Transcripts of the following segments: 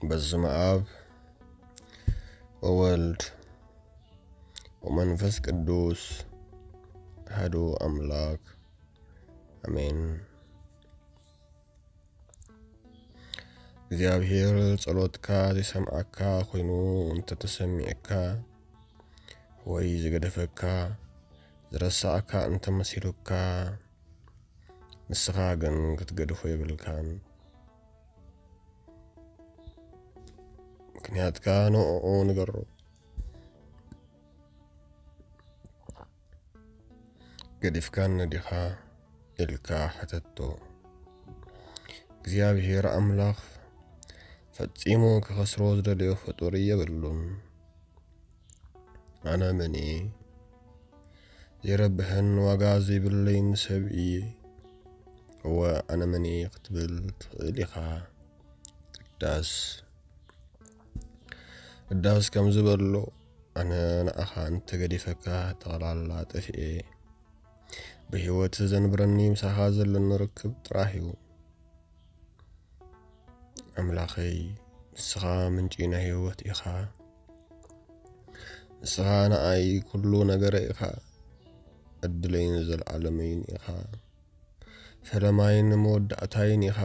በስመ አብ ወወልድ ወመንፈስ ቅዱስ አሐዱ አምላክ አሜን። እግዚኣብሔር ጸሎትካ ዘይሰምዓካ ኮይኑ እንተተሰሚዕካ ወይ ዝገደፈካ ዝረሳዕካ እንተመሲሉካ፣ ንስኻ ግን ክትገድፎ የብልካን። ምኽንያትካ ንዕኡ ንገሮ። "ገዲፍካኒ ዲኻ?" ኢልካ ሕተቶ። እግዚኣብሔር ኣምላኽ ፈጺሙ ክኸስሮ ዝደለዮ ፍጡር የብሉን። ኣነ መን እየ? ዘይረብሕን ዋጋ ዘይብለይን ሰብ እየ። እወ፣ ኣነ መን እየ ክትብል ትኽእል ኢኻ። ቅዳስ፣ ቅዳስ ከምዚ በሎ፣ ኣነ ንኣኻ እንተገዲፈካ ጠቕላላ ጠፊኤ። ብህይወት ዘንብረኒ ምሳኻ ዘለኒ ርክብ ጥራሕ እዩ። ኣምላኸይ፣ ንስኻ ምንጪ ናይ ህይወት ኢኻ። ንስኻ ንኣይ ኩሉ ነገረ ኢኻ። ዕድለይን ዘልዓለመይን ኢኻ። ፈለማይን መወዳእታይን ኢኻ።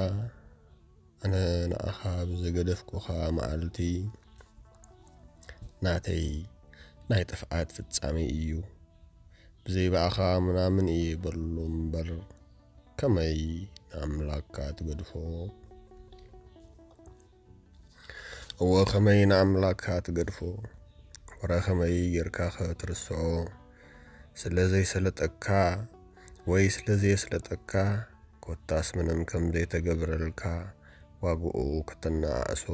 ኣነ ንኣኻ ብዝገደፍኩኻ መዓልቲ፣ ናተይ ናይ ጥፍኣት ፍጻሜ እዩ። ብዘይ ብኣኻ ምናምን እየ በሎ እምበር፣ ከመይ ንኣምላክካ ትገድፎ? እወ፣ ከመይ ንኣምላክካ ትገድፎ? ወረ ከመይ ጌርካ ክትርስዖ? ስለ ዘይሰለጠካ ወይ ስለ ዘየስለጠካ፣ ኮታስ ምንም ከም ዘይተገብረልካ ዋግኡ ከተነኣእሶ፣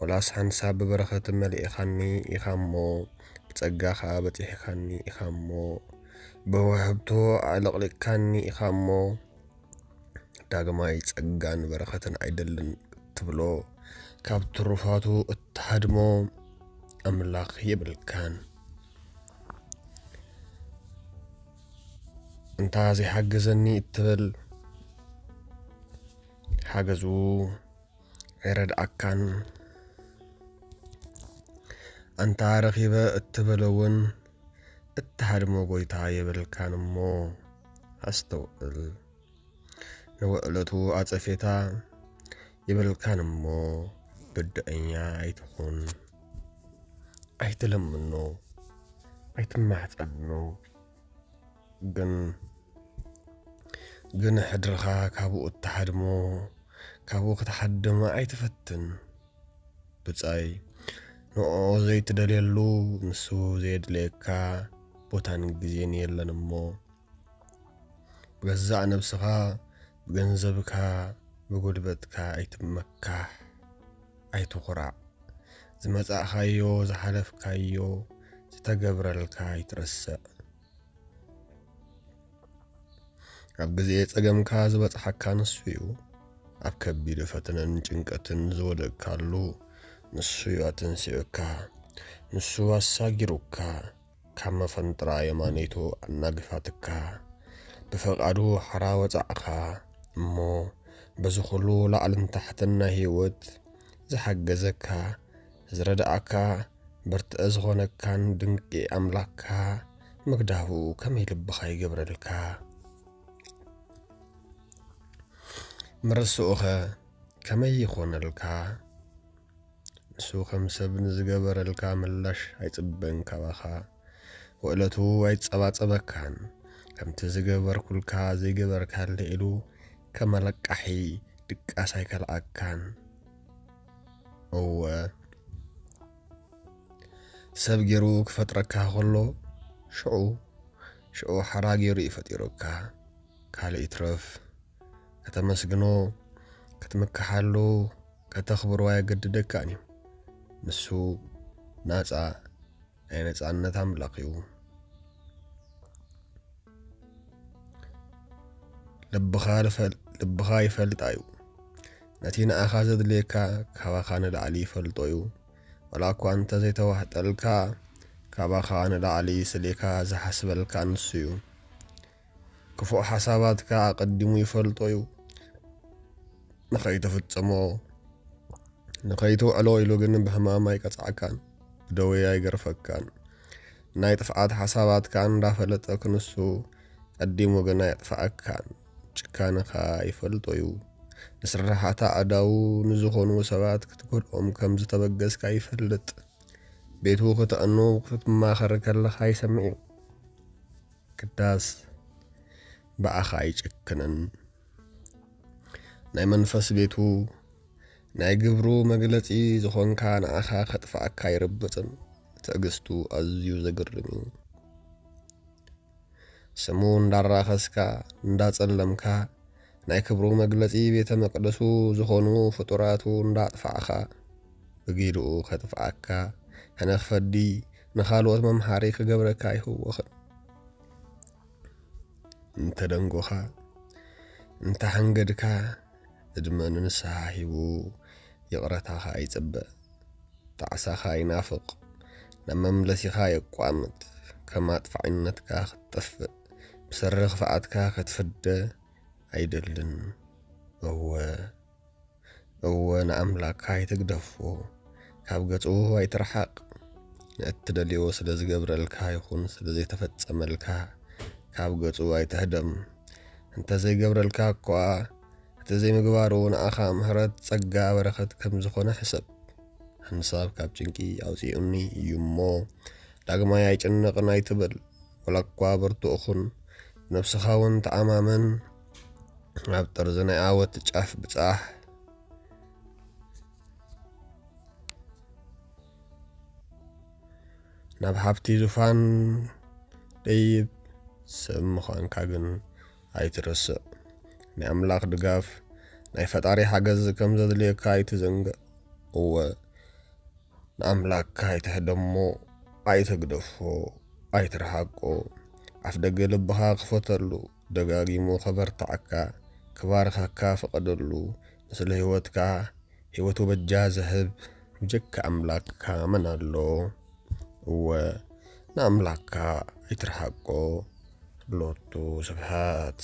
ወላስ ሓንሳብ ብበረኸት መሊእኻኒ ኢኻ እሞ፣ ብጸጋ ኸኣ በጺሕካኒ ኢኻ እሞ፣ ብውህብቶ ኣዕለቕሊቕካኒ ኢኻ እሞ፣ ዳግማይ ጸጋን በረኸትን ኣይደልን ትብሎ፣ ካብ ትሩፋቱ እትሃድሞ ኣምላኽ የብልካን። እንታ ዘይሓገዘኒ እትብል፣ ሓገዙ ኣይረድኣካን። ኣንታ ረኺበ እትብል እውን እትሃድሞ ጎይታ የብልካን እሞ ኣስተውዕል። ንውዕለቱ ኣጸፌታ የብልካን እሞ ብድዐኛ ኣይትኹን። ኣይትለምኖ፣ ኣይትማሕጸኖ። ግን፣ ግን ሕድርኻ ካብኡ እትሃድሞ፣ ካብኡ ክትሃድም ኣይትፈትን። ብጻይ፣ ንዕኡ ዘይትደልየሉ፣ ንሱ ዘየድልየካ ቦታን ግዜን የለን እሞ፣ ብገዛእ ነብስኻ፣ ብገንዘብካ፣ ብጉልበትካ ኣይትመካሕ፣ ኣይትኹራዕ። ዝመጻእካዮ፣ ዝሓለፍካዮ፣ ዝተገብረልካ ኣይትረስዕ። ኣብ ግዜ ጸገምካ ዝበጽሓካ ንሱ እዩ። ኣብ ከቢድ ፈተነን ጭንቀትን ዝወደቅካሉ ንሱ እዩ ኣተንሲኡካ። ንሱ ኣሳጊሩካ፣ ካብ መፈንጥራ የማነይቱ ኣናግፋትካ። ብፈቃዱ ሓራ ወጻዕኻ እሞ፣ በዚ ኩሉ ላዕልን ታሕትን ናይ ህይወት ዝሓገዘካ፣ ዝረድኣካ፣ ብርትዒ ዝኾነካን ድንቂ ኣምላኽካ ምግዳፉ ከመይ ልብኻ ይገብረልካ? ምርስኡኸ ከመይ ይኾነልካ? ንሱ ከም ሰብ ንዝገበረልካ ምላሽ ኣይጽበን ካባኻ። ውዕለቱ ኣይጸባጸበካን። ከምቲ ዝገበርኩልካ ዘይገበርካለይ ኢሉ ከም ኣለቃሒ ድቃስ ኣይከልኣካን። እወ፣ ሰብ ገይሩ ክፈጥረካ ከሎ፣ ሽዑ፣ ሽዑ ሓራ ገይሩ እዩ ፈጢሩካ። ካልእ ይትረፍ፣ ከተመስግኖ፣ ክትምክሓሉ፣ ከተኽብሮ ኣየገድደካን እዩ። ንሱ ናጻ ናይ ነጻነት ኣምላኽ እዩ። ልብኻ ልፈል-፣ ልብኻ ይፈልጣ እዩ። ነቲ ንኣኻ ዘድልየካ ካባኻ ንላዕሊ ይፈልጦ እዩ። ዋላ እኳ እንተ ዘይተዋሕጠልካ፣ ካባኻ ንላዕሊ ስሌካ ዝሓስበልካ ንሱ እዩ። ክፉእ ሓሳባትካ ኣቐዲሙ ይፈልጦ እዩ። ንኸይትፍጽሞ ንኸይትውዕሎ ኢሉ ግን ብሕማም ኣይቀጽዓካን፣ ብደዌ ኣይገርፈካን። ናይ ጥፍኣት ሓሳባትካ እንዳፈለጠ ክንሱ ቀዲሙ ግን ኣየጥፍኣካን። ጭካነኻ ይፈልጦ እዩ። ንስራሓት ኣእዳዉ ንዝኾኑ ሰባት ክትጎድኦም ከም ዝተበገስካ ይፈልጥ። ቤቱ ክተዕኑ ክትማኸር ከለኻ ይሰምዕ እዩ። ክዳስ ብኣኻ ኣይጭክንን። ናይ መንፈስ ቤቱ ናይ ግብሩ መግለጺ ዝኾንካ ንኣኻ ከጥፍኣካ ኣይርብጽን። ትዕግስቱ ኣዝዩ ዘግርም እዩ። ስሙ እንዳራኸስካ እንዳጸለምካ ናይ ክብሩ መግለጺ ቤተ መቅደሱ ዝኾኑ ፍጡራቱ እንዳጥፋዕኻ ብጊድኡ ከጥፍኣካ ሕነ ክፈዲ ንኻልኦት መምሃሪ ክገብረካ ኣይህወኽን። እንተደንጎኻ እንተሓንገድካ ዕድመ ንንስሓ ሂቡ ይቕረታኻ ይጽበ። ጣዕሳኻ ይናፍቕ፣ ናብ መምለሲኻ የቋምት። ከም ኣጥፋዒነትካ ክትጠፍእ፣ ብሰሪ ክፍኣትካ ክትፍደ ኣይደልን። እወ፣ እወ ንኣምላክካ ኣይትግደፎ፣ ካብ ገጹ ኣይትርሓቕ። ንእትደልዮ ስለ ዝገብረልካ ይኹን ስለ ዘይተፈጸመልካ ካብ ገጹ ኣይትህደም። እንተ ዘይገብረልካ እኳ እቲ ዘይምግባሩ ንኣኻ ምሕረት ጸጋ በረኸት ከም ዝኾነ ሕሰብ። ሓንሳብ ካብ ጭንቂ ኣውጺኡኒ እዩ እሞ ዳግማይ ኣይጭነቕን ኣይትበል። ወላ እኳ ብርቱእ ኹን፣ ነብስኻ እውን ተኣማመን። ኣብ ጠርዚ ናይ ኣወት ጫፍ ብጻሕ። ናብ ሃብቲ ዙፋን ደይብ። ሰብ ምዃንካ ግን ኣይትረስዕ። ናይ ኣምላኽ ድጋፍ፣ ናይ ፈጣሪ ሓገዝ ከም ዘድልየካ ኣይትዘንግዕ። እወ ንኣምላክካ ኣይትሕደሞ፣ ኣይትግደፎ፣ ኣይትርሓቆ። ኣፍ ደገ ልብኻ ክፈተሉ፣ ደጋጊሙ ከበርትዓካ፣ ክባርኸካ ፍቐደሉ። ንስለ ህይወትካ ህይወቱ በጃ ዝህብ ብጀካ ኣምላክካ መን ኣሎ? እወ ንኣምላክካ ኣይትርሓቆ። ሎቱ ስብሐት።